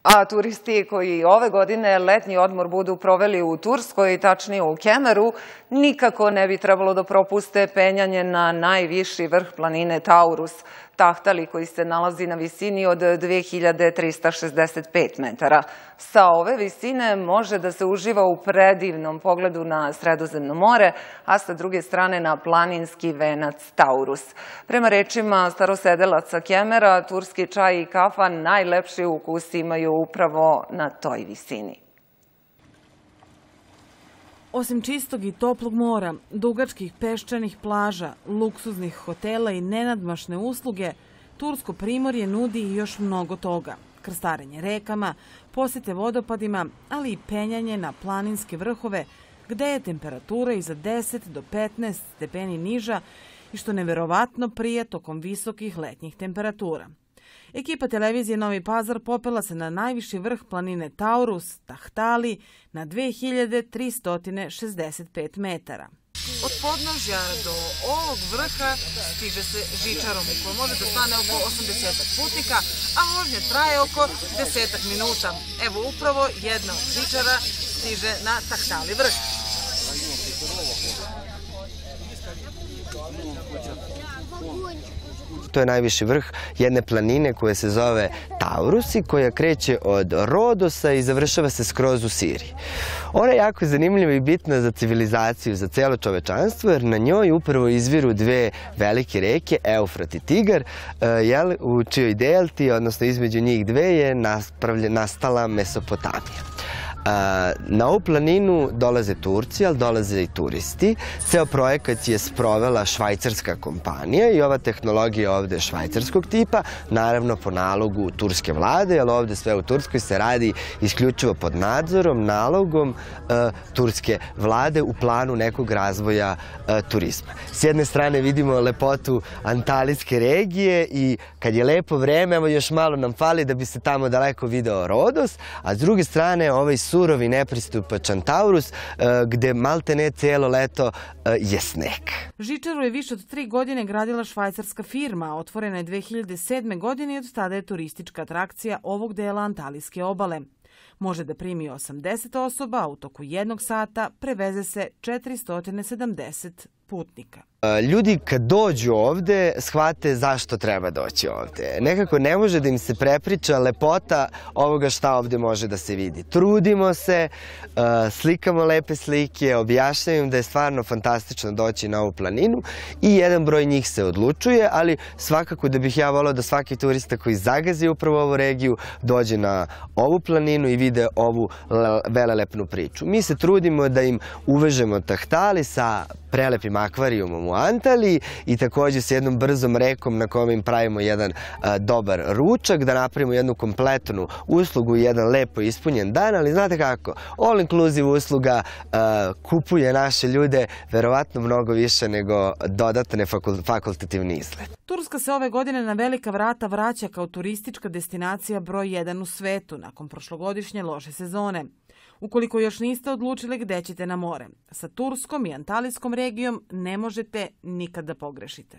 A turisti koji ove godine letnji odmor budu proveli u Turskoj, tačnije u Kemeru, nikako ne bi trebalo da propuste penjanje na najviši vrh planine Taurus, Tahtali koji se nalazi na visini od 2365 metara. Sa ove visine može da se uživa u predivnom pogledu na Sredozemno more, a sa druge strane na planinski venac Taurus. Prema rečima starosedelaca Kemera, turski čaj i kafa najlepši ukus imaju upravo na toj visini. Osim čistog i toplog mora, dugačkih peščanih plaža, luksuznih hotela i nenadmašne usluge, Tursko primorje nudi i još mnogo toga. Krstarenje rekama, posete vodopadima, ali i penjanje na planinske vrhove, gde je temperatura i za 10 do 15 stepeni niža i što neverovatno prije tokom visokih letnjih temperatura. Ekipa televizije Novi Pazar popela se na najviši vrh planine Taurus, Tahtali, na 2365 metara. Od podnožja do ovog vrha stiže se žičarom u kojoj može da stane oko 80 putnika, a vožnja traje oko 10 minuta. Evo upravo jedna od žičara stiže na Tahtali vrh. To je najviši vrh jedne planine koja se zove Taurus i koja kreće od Rodosa i završava se skroz u Siriji. Ona je jako zanimljiva i bitna za civilizaciju, za celo čovečanstvo, jer na njoj upravo izviru dve velike reke, Eufrat i Tigar, u čijoj delti, odnosno između njih dve, je nastala Mesopotamija. Na ovu planinu dolaze Turci, ali dolaze i turisti. Ceo projekat je sprovela švajcarska kompanija i ova tehnologija ovde je švajcarskog tipa, naravno po nalogu turske vlade, jer ovde sve u Turskoj se radi isključivo pod nadzorom, nalogom turske vlade u planu nekog razvoja turizma. S jedne strane vidimo lepotu Antalijske regije i kad je lepo vreme, evo još malo nam fali da bi se tamo daleko video Rodos, a s druge strane ovaj surovi nepristupačan Taurus, gde maltene cijelo leto je sneg. Žičaru je više od 3 godine gradila švajcarska firma, otvorena je 2007. godine i od tada je turistička atrakcija ovog dela Antalijske obale. Može da primi 80 osoba, a u toku jednog sata preveze se 470 putnika. Ljudi kad dođu ovde shvate zašto treba doći ovde. Nekako ne može da im se prepriča lepota ovoga šta ovde može da se vidi. Trudimo se, slikamo lepe slike, objašnjavamo da je stvarno fantastično doći na ovu planinu i jedan broj njih se odlučuje, ali svakako da bih ja volao da svaki turista koji zagazi upravo ovu regiju dođe na ovu planinu i vide ovu velelepnu priču. Mi se trudimo da im uvežemo Tahtali sa prelepim akvarijumom u Antaliji i također s jednom brzom rekom na kojom im pravimo jedan dobar ručak, da napravimo jednu kompletnu uslugu, jedan lepo ispunjen dan, ali znate kako, all inclusive usluga kupuje naše ljude verovatno mnogo više nego dodatne fakultativni izgled. Turska se ove godine na velika vrata vraća kao turistička destinacija broj 1 u svetu nakon prošlogodišnje loše sezone. Ukoliko još niste odlučili gde ćete na more, sa Turskom i Antalijskom regijom ne možete nikad da pogrešite.